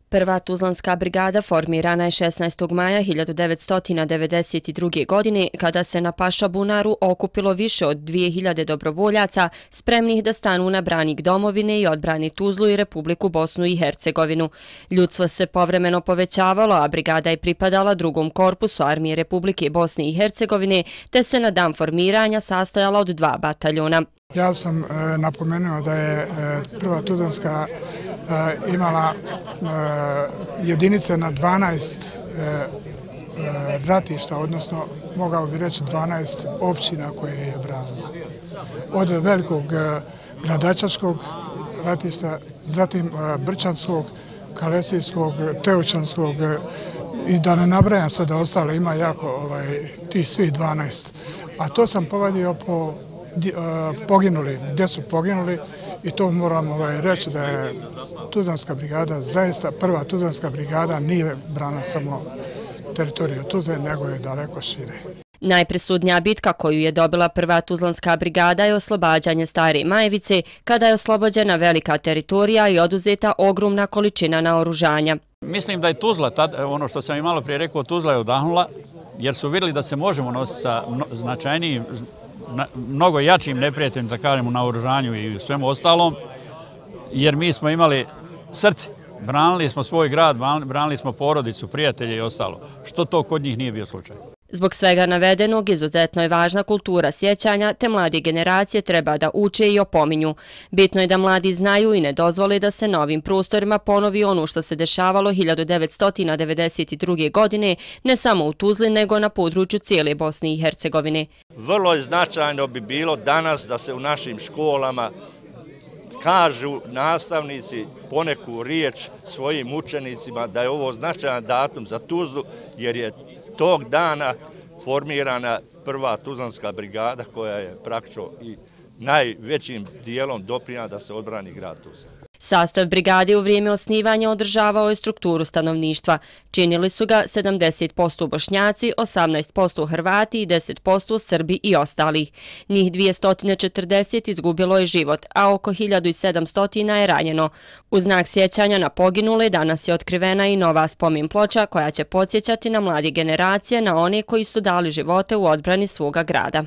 Prva Tuzlanska brigada formirana je 16. maja 1992. godine kada se na Pašabunaru okupilo više od 2000 dobrovoljaca spremnih da stanu na branik domovine i odbrani Tuzlu i Republiku Bosnu i Hercegovinu. Ljudstvo se povremeno povećavalo, a brigada je pripadala drugom korpusu Armije Republike Bosne i Hercegovine, te se na dan formiranja sastojala od 2 bataljona. Ja sam napomenuo da je prva Tuzlanska imala jedinice na 12 ratišta, odnosno mogao bi reći 12 općina koje je branila. Od velikog Gradačačkog ratišta, zatim Brčanskog, Kalesijskog, Teočanskog i da ne nabrajam sada ostale, ima jako tih svih 12. A to sam povadio po poginuli, gdje su poginuli, i to moram reći da je Tuzlanska brigada, zaista prva Tuzlanska brigada nije brana samo teritoriju Tuzle, nego je daleko šire. Najpresudnija bitka koju je dobila prva Tuzlanska brigada je oslobađanje Stare Majevice, kada je oslobođena velika teritorija i oduzeta ogromna količina naoružanja. Mislim da je Tuzla, ono što sam i malo prije rekao, Tuzla je odahnula, jer su vidjeli da se možemo nositi sa značajnijim, mnogo jačim neprijateljem, da kažem, u naoružanju i svemu ostalom, jer mi smo imali srce. Branili smo svoj grad, branili smo porodicu, prijatelje i ostalo, što to kod njih nije bio slučaj. Zbog svega navedenog, izuzetno je važna kultura sjećanja, te mlade generacije treba da uče i opominju. Bitno je da mladi znaju i ne dozvole da se na ovim prostorima ponovi ono što se dešavalo 1992. godine, ne samo u Tuzli, nego na području cijele Bosne i Hercegovine. Vrlo značajno bi bilo danas da se u našim školama kažu nastavnici poneku riječ svojim učenicima da je ovo značajan datum za Tuzlu, jer je tog dana formirana prva Tuzlanska brigada koja je praktično i najvećim dijelom doprinijela da se odbrani grad Tuzla. Sastav brigade u vrijeme osnivanja održavao je strukturu stanovništva. Činili su ga 70% Bošnjaci, 18% Hrvati i 10% Srbi i ostalih. Njih 240 izgubilo je život, a oko 1700 je ranjeno. U znak sjećanja na poginule danas je otkrivena i nova spomen ploča koja će podsjećati na mlade generacije, na one koji su dali živote u odbrani svoga grada.